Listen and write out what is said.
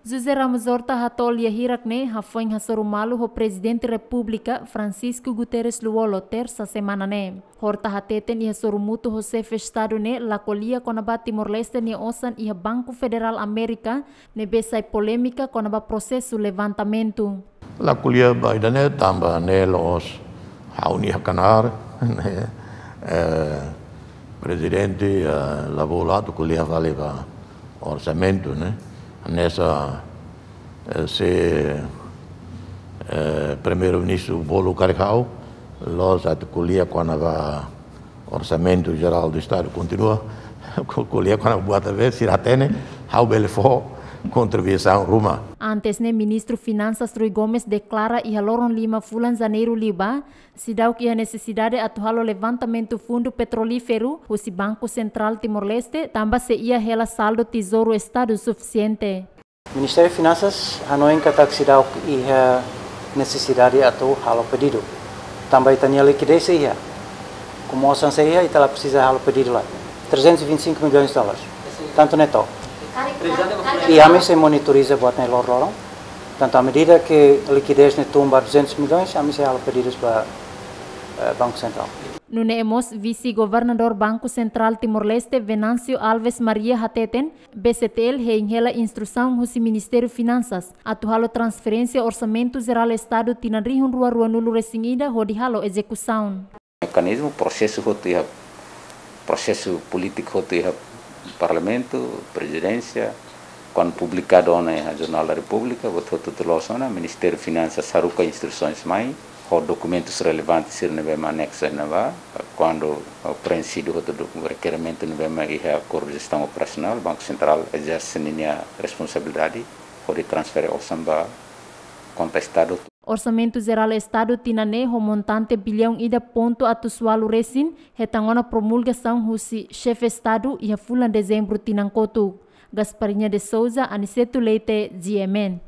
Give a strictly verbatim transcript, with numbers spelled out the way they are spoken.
José Ramos Horta hato'o lia hirak ne'e hafoin hasoru malu ho Prezidente Repúblika Francisco Guterres Lú-Olo, tersa semana ne'e. Horta hateten iha sorumutu ho Xefe Estadu ne'e la ko'alia kona-ba Timor-Leste nia osan iha Banku Federál Amérika, ne'ebé sai polémika kona-ba prosesu levantamentu. La ko'alia ba ida-ne'e tanba ne'e la'ós ha'u-nia knaar, ne'e, eh, Prezidente, eh, la bolu atu ko'alia fali ba orsamentu, ne'e. Hanesan, eh, se, eh, Primeiru-Ministru bolu karik ha'u, la'ós atu ko'alia kona-ba Orsamentu Jerál do Estadu, kontinua ko-, ko'alia kona-ba buat ne'ebé sira hatene, ha'u bele fó kontribuisaun ruma. Antes ne'e, Ministru Finansas Rui Gomes deklara iha loron lima fulan Janeiru liubá, seidauk iha nesesidade atu halo levantamentu fundu petrolíferu husi Banku Sentrál Timor-Leste, tanba sei iha hela saldu Tezouru Estadu sufisiente. Ministériu Finansas hanoin katak seidauk iha nesesidade atu halo pedidu. Tanba ita-nia likidez sei iha. Komu osan sei iha, ita la presiza halo pedidu lai. Trezentos e vinte e cinco milhões de dólares. Tantu ne'e to'o. I ami sei monitoriza buat ne'e loroloron. Tantu à medida que likidez ne'e tun ba duzentos milhões, ami sei halo pedidus ba, eh, Banku Sentrál. Nune'e mós Vise-Governadór Banku Sentrál Timor-Leste, Venâncio Alves Maria, hateten, B C T L hein hela instrusaun husi Ministériu Finansas atu halo transferénsia Orsamentu Jerál Estadu tinan rihun rua ruanulu resin ida hodi halo ezekusaun. Mekanizmu prosesu hotu iha, prosesu polítiku hotu iha Parlamentu, Prezidénsia, kuandu publikadu ona iha Jornál da Repúblika, buat hotu-hotu loos ona, Ministériu Finansas haruka instrusaun mai, ho dokumentus relevante sira ne'ebé mak aneksu iha ne'ebá, kuandu, eh, preenxidu hotu do-, rekerimentu ne'ebé mak iha akordu jestaun operasionál, Banku Sentrál ezerse ninia responsabilidade hodi transfere osan ba konta Estadu. Orsamentu Jerál Estadu tinan ne'e ho montante biliaun ida pontu atus ualu resin, hetan ona promulgasaun husi Xefe Estadu iha fulan Dezembru tinan kotuk. Gasparinha de Souza, Aniceto Leite, G M N.